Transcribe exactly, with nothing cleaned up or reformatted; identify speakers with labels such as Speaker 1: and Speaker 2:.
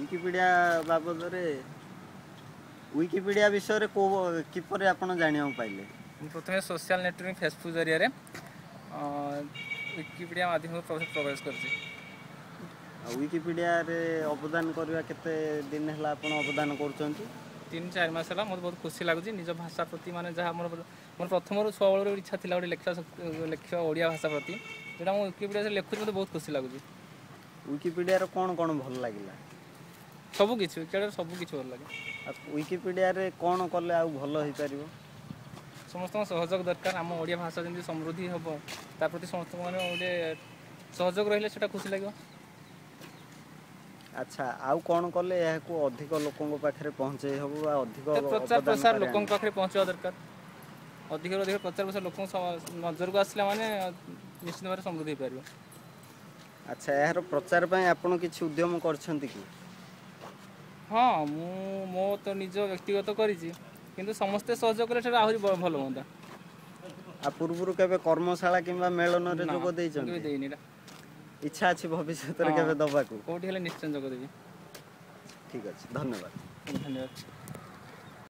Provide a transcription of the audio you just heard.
Speaker 1: Wikipedia ବାବଦରେ, Wikipedia ବିଷୟରେ କେଉଁ କିପରି ଆପଣ ଜାଣିବାକୁ ପାଇଲେ?
Speaker 2: ମୁଁ ପ୍ରଥମେ ସୋସିଆଲ ନେଟୱାର୍କିଂ ଫେସବୁକ୍ ଜରିଆରେ ୱିକିପିଡ଼ିଆ ମାଧ୍ୟମରେ ପ୍ରବେଶ କରିଛି।
Speaker 1: ଆଉ ୱିକିପିଡ଼ିଆରେ ଅବଦାନ କରିବା କେତେ ଦିନ ହେଲା ଆପଣ ଅବଦାନ କରୁଛନ୍ତି?
Speaker 2: ତିନି ଚାରି ମାସ ହେଲା। ମୋତେ ବହୁତ ଖୁସି ଲାଗୁଛି ନିଜ ଭାଷା ପ୍ରତି, ମାନେ ଯାହା ମୋର ମୋର ପ୍ରଥମରୁ ଛୁଆବେଳରୁ ଇଚ୍ଛା ଥିଲା ଗୋଟେ ଲେଖିବା, ଲେଖିବା ଓଡ଼ିଆ ଭାଷା ପ୍ରତି, ଯେଉଁଟା ମୁଁ ୱିକିପିଡ଼ିଆରେ ଲେଖୁଛି, ମୋତେ ବହୁତ ଖୁସି ଲାଗୁଛି।
Speaker 1: ୱିକିପିଡ଼ିଆର କ'ଣ କ'ଣ ଭଲ ଲାଗିଲା?
Speaker 2: ସବୁ କିଛି, ୱିକିପିଡ଼ିଆରେ ସବୁ କିଛି ଭଲ ଲାଗେ।
Speaker 1: ଆଉ ୱିକିପିଡ଼ିଆରେ କ'ଣ କଲେ ଆଉ ଭଲ ହେଇପାରିବ?
Speaker 2: ସମସ୍ତଙ୍କ ସହଯୋଗ ଦରକାର। ଆମ ଓଡ଼ିଆ ଭାଷା ଯେମିତି ସମୃଦ୍ଧି ହେବ, ତା ପ୍ରତି ସମସ୍ତଙ୍କ ମାନେ ଗୋଟେ ସହଯୋଗ ରହିଲେ ସେଇଟା ଖୁସି ଲାଗିବ।
Speaker 1: ଆଚ୍ଛା, ଆଉ କ'ଣ କଲେ ଏହାକୁ ଅଧିକ ଲୋକଙ୍କ ପାଖରେ ପହଞ୍ଚେଇ ହେବ ବା ଅଧିକ
Speaker 2: ପ୍ରଚାର ପ୍ରସାର ଲୋକଙ୍କ ପାଖରେ ପହଞ୍ଚିବା ଦରକାର? ଅଧିକରୁ ଅଧିକ ପ୍ରଚାର ପ୍ରସାର ଲୋକଙ୍କ ନଜରକୁ ଆସିଲା ମାନେ ନିଶ୍ଚିତ ଭାବରେ ସମୃଦ୍ଧି ହେଇପାରିବ।
Speaker 1: ଆଚ୍ଛା, ଏହାର ପ୍ରଚାର ପାଇଁ ଆପଣ କିଛି ଉଦ୍ୟମ କରିଛନ୍ତି କି?
Speaker 2: ହଁ, ମୁଁ ମୋ ତ ନିଜ ବ୍ୟକ୍ତିଗତ କରିଛି, କିନ୍ତୁ ସମସ୍ତେ ସହଯୋଗ କଲେ ସେଟା ଆହୁରି ଭଲ ହୁଅନ୍ତା।
Speaker 1: ଆଉ ପୂର୍ବରୁ କେବେ କର୍ମଶାଳା କିମ୍ବା ମେଳନରେ ଯୋଗ ଦେଇଛନ୍ତି?
Speaker 2: ଦେଇନି। ଏଇଟା
Speaker 1: ଇଚ୍ଛା ଅଛି ଭବିଷ୍ୟତରେ କେବେ ଦବାକୁ?
Speaker 2: କୋଉଠି ହେଲେ ନିଶ୍ଚୟ ଯୋଗ ଦେବି।
Speaker 1: ଠିକ୍ ଅଛି, ଧନ୍ୟବାଦ।
Speaker 2: ଧନ୍ୟବାଦ।